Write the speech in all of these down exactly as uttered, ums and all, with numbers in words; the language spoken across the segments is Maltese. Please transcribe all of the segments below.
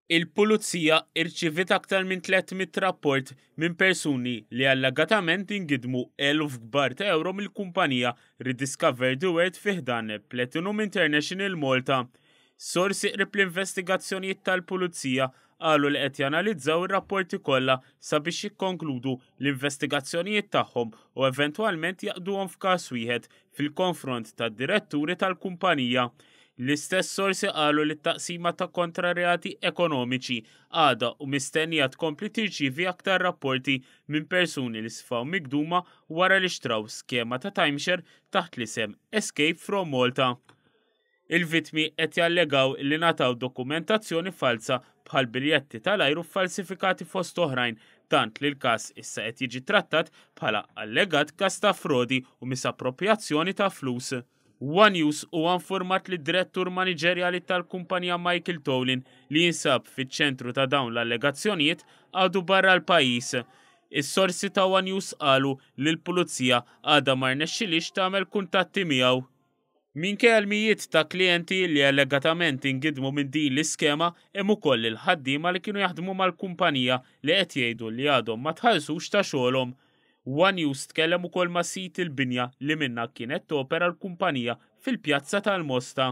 Il-Pulizija irċiviet aktar minn tliet mitt rapport minn persuni li allegatament ingidmu eluf kbar ta' euro mill-kumpanija Rediscover the World fi ħdan Platinum International Malta. Sorsi qrib l-investigazzjonijiet tal-Pulizija qalu li qed janalizzaw ir-rapporti kollha sabiex jikkonkludu l-investigazzjonijiet tagħhom u eventwalment jgħaqqduhom f'każ wieħed fil-konfront tad-diretturi tal-kumpanija. L-istess sorsi qalu li t-taqsima ta' kontra reati ekonomiċi għada u mistennija tkompli tirċivi aktar rapporti minn persuni li sfaw migduma wara li xtraw skema ta' timeshare taħt l-isem Escape from Malta. Il-vitmi qed jallegaw li ngħataw dokumentazzjoni falsa bħal biljetti tal-ajru falsifikati fost oħrajn, tant li l-każ issa qed jiġi trattat bħala allegat każ ta' frodi u misappropriazzjoni ta' flus. One News huwa informat li direttur maniġerjali tal-kumpanija Michael Tolin, li jinsab fiċ-ċentru ta' dawn l-allegazzjonijiet, għadu barra l-pajjiż. Is-sorsi ta' One News qalu li l-pulizija għadha ma rnexxilix tagħmel kuntatti miegħu. Minkejja l-mijiet ta' klijenti li allegatament ingidmu minn din l-iskema, hemm ukoll il-ħaddiema li kienu jaħdmu mal-kumpanija li qed jgħidu li għadhom ma tħallsux ta' xogħolhom. One News tkellem ukoll ma' sid il-binja li minnha kienet topera l-kumpanija fil-pjazza tal-Mosta.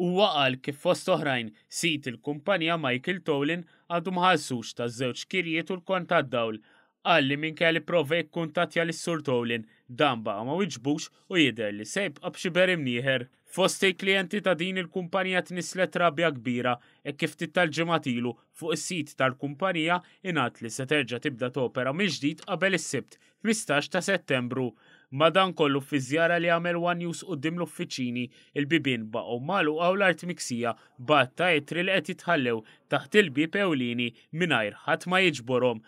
Huwa qal kif fost oħrajn sid il-kumpanija Michael Tolin għadu ma ħallsux ta' żewġ kirjiet u l-kont tad-dawl. Qal li minkejja li prova jikkuntattja lis-Sur Tolin, dan baqa' ma wiġbux u jidher li se jibqa' b'xiber imnieħer. Fost il-klijenti ta' din il-kumpanija tnislet rabja kbira e kif ftit tal-ġimgħat ilu fuq is-sit tal-kumpanija ingħad li se terġa' tibda topera mill-ġdid qabel is-Sibt ħmistax ta' Settembru. Madankollu, fi żjara li għamel One News quddiem l-uffiċini, il-bibien baqgħu magħluqa u l-art miksija b'għadd ta' ittri li qed jitħallew taħt il-bib ewlieni mingħajr ħadd ma jiġborhom.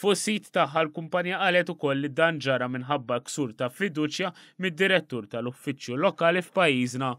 Fuq sit tagħha l-kumpanija qalet ukoll li dan ġara minħabba ksur ta' fiduċja mid-direttur tal-uffiċċju lokali f'pajjiżna.